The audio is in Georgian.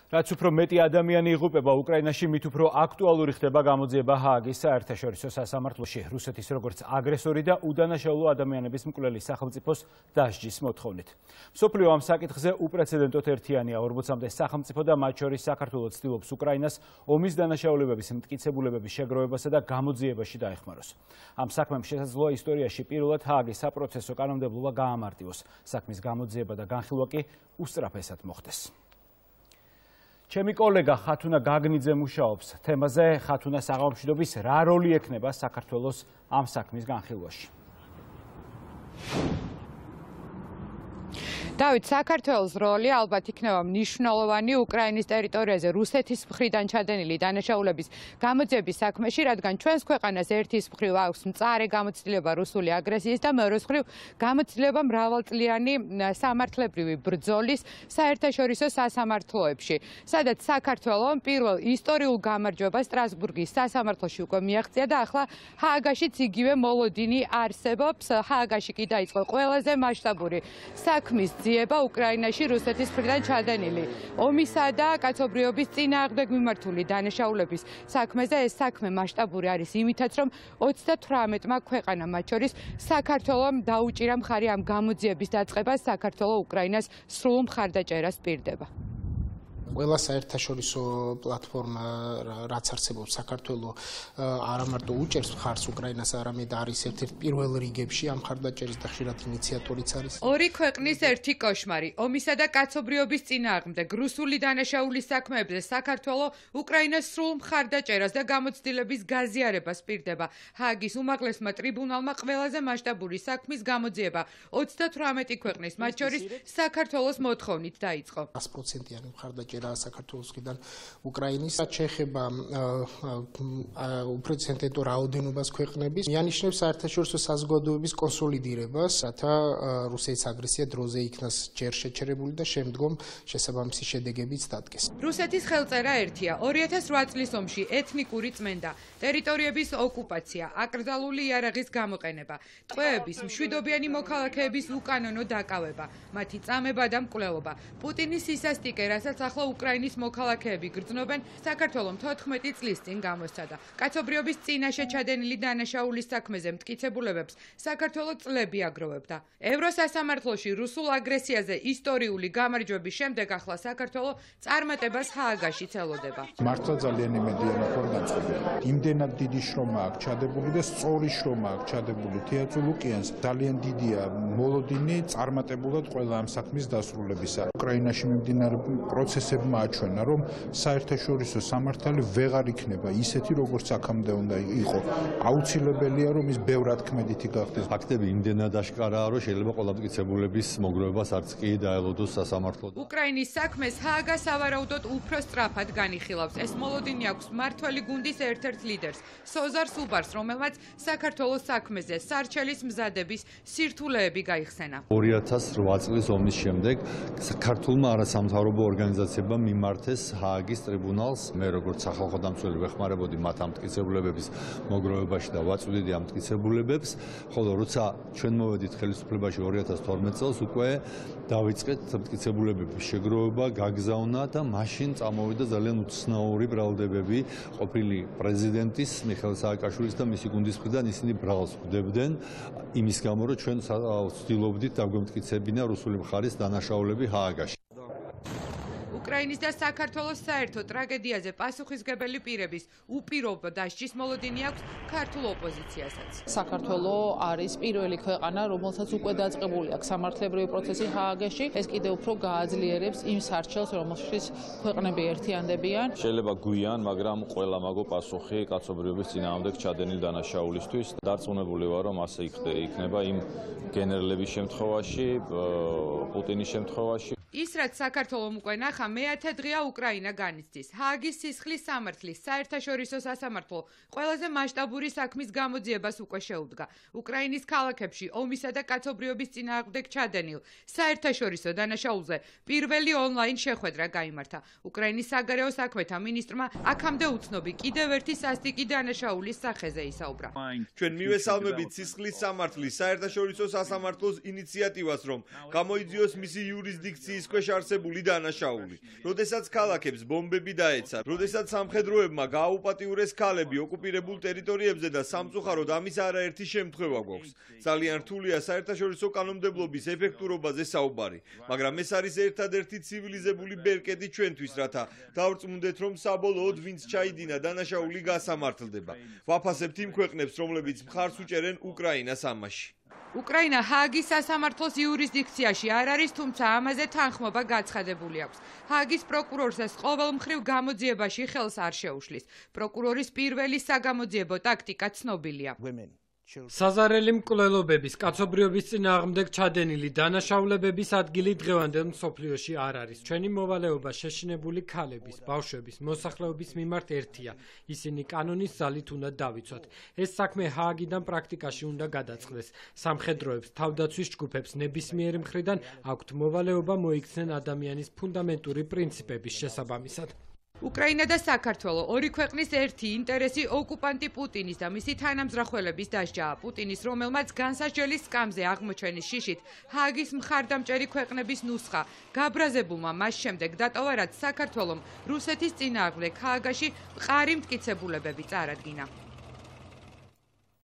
რაც უფრო მეტი ადამიანი იღუპება უკრაინაში, მით უფრო აქტუალური ხდება გამოძიება ჰააგის საერთაშორისო სასამართლოში რუსეთის როგორც აგრესორი და უდანაშაულო ადამიანების მკვლელი სახელმწიფოს დასჯის მოთხოვნით. მსოფლიო ამ საკითხზე უპრეცედენტოდ ერთიანია. 40-მდე სახელმწიფო და მათ შორის საქართველოს ცდილობს უკრაინას ომის დანაშაულებების მტკიცებულებების შეგროვებასა და გამოძიებაში დაეხმაროს. ამ საქმემ შესაძლოა ისტორიაში პირველად ჰააგის საპროცესო კანონმდებლობა გაამარტივოს. საქმის გამოძიება და განხილვა კი უსწრაფესად მოხდეს. ჩემი კოლეგა ხათუნა გაგნიძე მუშაობს თემაზე ხათუნა საღამოშვიდობის რა როლი ექნება საქართველოს ამ საქმის განხილვაში. დავით, საქართველოს როლი ალბათ იქნება მნიშვნელოვანი უკრაინის ტერიტორიაზე რუსეთის მხრიდან ჩადენილი დანაშაულების გამოძიების საქმეში, რადგან ჩვენს ქვეყანას ერთის მხრივ აქვს მწარე გამოცდილება რუსული აგრესიის და მეორეს მხრივ გამოცდილება მრავალწლიანი სამართლებრივი ბრძოლის საერთაშორისო სასამართლოებში, სადაც საქართველომ პირველ ისტორიულ გამარჯვებას სტრასბურგის სასამართლოში უკვე მიაღწია და ახლა ჰააგაშიც იგივე მოლოდინი არსებობს. ჰააგაში კი დაიწყო ყველაზე მასშტაბური საქმის ძიება უკრაინაში რუსეთის მხრიდან ჩადენილი ომისა და კაცობრიობის წინააღმდეგ მიმართული დანაშაულების საქმეზე. ეს საქმე მასშტაბური არის იმითაც, რომ 38-მა ქვეყანამ, მათ შორის საქართველომ დაუჭირა მხარი ამ გამოძიების დაწყებას. საქართველო უკრაინას სრულ მხარდაჭერას პირდება. ყველა საერთაშორისო პლატფორმა, რაც არსებობს საქართველო არა მარტო უჭერს მხარს უკრაინას, არამედ არის ერთ-ერთი პირველ რიგებში ამ მხარდაჭერის და ხშირად ინიციატორიც არის. ორი ქვეყნის ერთი კოშმარი, ომისა და კაცობრიობის წინააღმდეგ რუსული დანაშაულის საქმეებზე საქართველო უკრაინას სრულ მხარდაჭერას და გამოცდილების გაზიარებას პირდება. ჰააგის უმაღლესმა ტრიბუნალმა ყველაზე მასშტაბური საქმის გამოძიება 38 ქვეყნის, მათ შორის საქართველოს მოთხოვნით დაიწყო. 100%-იანი მხარდაჭერა საქართველოსგან უკრაინის შეეხება უპრეცედენტო რაოდენობას ქვეყნების მიანიშნებს საერთაშორისო საზოგადოების კონსოლიდირებას, რათა რუსეთის აგრესია დროზე იქნას ჯერ შეჩერებული და შემდგომ შესაბამისი შედეგებიც დადგეს. რუსეთის ხელწერა ერთია. 2008 წლის ომში ეთნიკური წმენდა, ტერიტორიების ოკუპაცია, აკრძალული იარაღის გამოყენება, ტყვეების, მშვიდობიანი მოქალაქეების უკანონო დაკავება, მათი წამება და მკვლელობა. პუტინის სისასტიკე, რასაც ახლა უკრაინის მოქალაქეები გრძნობენ, საქართველომ 14 წლის წინ გამოსცადა. კაცობრიობის წინაშე ჩადენილი დანაშაულის საქმეზე მტკიცებულებებს საქართველო წლები აგროვებდა. ევროსასამართლოში რუსულ აგრესიაზე ისტორიული გამარჯვების შემდეგ ახლა საქართველო წარმატებას ჰააგაშიც ელოდება. მართლა ძალიან იმედია მაქვს დაწყებული. იმდენად დიდი შრომა აქვს ჩადებული და სწორი შრომა აქვს ჩადებული თეატრ ლუკიანს. ძალიან დიდია მოლოდინი წარმატებულად ყველა ამ საქმის დასრულებისა. უკრაინაში მიმდინარე პროცესებმა აჩვენა, რომ საერთაშორისო სამართალი ვეღარ იქნება ისეთი, როგორც აქამდე უნდა იყო. აუცილებელია, რომ ის ბევრად ქმედითი გახდეს. ფაქტები იმდენად აშკარაა, რომ შეიძლება ყველა მტკიცებულების მოგროვებას არც კი დაელოდოს სასამართლო. უკრაინის საქმეს ჰააგა სავარაუდოდ უფრო სწრაფად განიხილავს. ეს მოლოდინი აქვს მმართველი გუნდის ერთ-ერთ ლიდერს, სოზარ სუბარს, რომელმაც საქართველოს საქმეზე სარჩელის მზადების სირთულეები გაიხსენა. 2008 წლის ომის შემდეგ საქართველმა არასამთავრობო ორგანიზაციებმა მიმართეს ჰააგის ტრიბუნალს. მე როგორც სახალხო დამცველი ვეხმარებოდი მათ ამ მტკიცებულებების მოგროვებაში და ვაწვდიდი ამ მტკიცებულებებს, ხოლო როცა ჩვენ მოვედით ხელისუფლებაში 2012 წელს უკვე დავიწყეთ მტკიცებულებების შეგროვება, გაგზავნა და მაშინ წამოვიდა ძალიან უცნაური ბრალდებები ყოფილი პრეზიდენტის მიხეილ სააკაშვილის და მისი გუნდის მხრიდან. ისინი ბრალს ხვდებდნენ იმის გამო, რომ ჩვენ ვცდილობდით დაგვემტკიცებინა რუსული მხარის დანაშაულები ჰააგაში. უკრაინის და საქართველოს საერთო ტრაგედიაზე პასუხისმგებელი პირების უპირობო დასჯის მოლოდინი აქვს ქართულ ოპოზიციასაც. საქართველო არის პირველი ქვეყანა, რომელსაც უკვე დაწყებული აქვს სამართლებრივი პროცესი ჰააგაში. ეს კიდევ უფრო გააძლიერებს იმ სარჩელს, რომელშიც ქვეყნები ერთიანდებიან. შეიძლება გვიან, მაგრამ ყველა მაგო პასუხი კაცობრიობის წინააღმდეგ ჩადენილი დანაშაულისთვის. დარწმუნებული ვარ, რომ ასე იქნება იმ გენერლების შემთხვევაში, პუტინის შემთხვევაში. ის რაც საქართველომ უკვე ნახა, მეათე დღეა უკრაინა განიცდის. ჰააგის სისხლის სამართლის საერთაშორისო სასამართლო ყველაზე მასშტაბური საქმის გამოძიებას უკვე შეუდგა. უკრაინის ქალაქებში ომისა და კაცობრიობის წინააღმდეგ ჩადენილ საერთაშორისო დანაშაულზე პირველი ონლაინ შეხვედრა გაიმართა. უკრაინის საგარეო საქმეთა მინისტრმა აქამდე უცნობი კიდევ ერთი სასტიკი დანაშაულის სახეზე ისაუბრა. ჩვენ მივესალმებით სისხლის სამართლის საერთაშორისო სასამართლოს ინიციატივას, რომ გამოიძიოს მისი იურისდიქციის ქვეშ არსებული დანაშაული. როდესაც ქალაქებს ბომბები დაეცა, როდესაც სამხედროებმა გააუპატიურეს ქალები ოკუპირებულ ტერიტორიებზე და სამწუხაროდ ამის არაერთი შემთხვევა გვაქვს. ძალიან რთულია საერთაშორისო კანონმდებლობის ეფექტურობაზე საუბარი, მაგრამ ეს არის ერთადერთი ცივილიზებული ბერკეტი ჩვენთვის, რათა დავრწმუნდეთ, რომ საბოლოოდ ვინც ჩაიდინა დანაშაული გასამართლდება. ვაფასებთ იმ ქვეყნებს, რომლებიც მხარს უჭერენ უკრაინას ამაში. უკრაინა ჰააგის სასამართლოს იურისდიქციაში არ არის, თუმცა ამაზე თანხმობა გაცხადებული აქვს. ჰააგის პროკურორსაც ყოველმხრივ გამოძიებაში ხელს არ შეუშლის. პროკურორის პირველი საგამოძიებო ტაქტიკა ცნობილია. საზარელი მკვლელობების, კაცობრიობის წინააღმდეგ ჩადენილი დანაშაულებების ადგილი დღევანდელ მსოფლიოში არ არის. ჩვენი მოვალეობა შეშინებული ქალების, ბავშვების, მოსახლეობის მიმართ ერთია. ისინი კანონის ძალით უნდა დავიცვათ. ეს საქმე ჰააგიდან პრაქტიკაში უნდა გადაწყდეს. სამხედროებს, თავდაცვის ჯგუფებს ნებისმიერი მხრიდან აქვთ მოვალეობა მოიქცნენ ადამიანის ფუნდამენტური პრინციპების შესაბამისად. უკრაინა და საქართველო ორი ქვეყნის ერთი ინტერესი ოკუპანტი პუტინის და მისი თანამზრახველების დასჯაა. პუტინის, რომელმაც განსასჯელის სკამზე აღმოჩენის შიშით ჰააგის მხარდამჭერი ქვეყნების ნუსხა გაბრაზებულმა მას შემდეგ დატოვა, რაც საქართველომ რუსეთის წინააღმდეგ ჰააგაში მყარი მტკიცებულებები წარადგინა.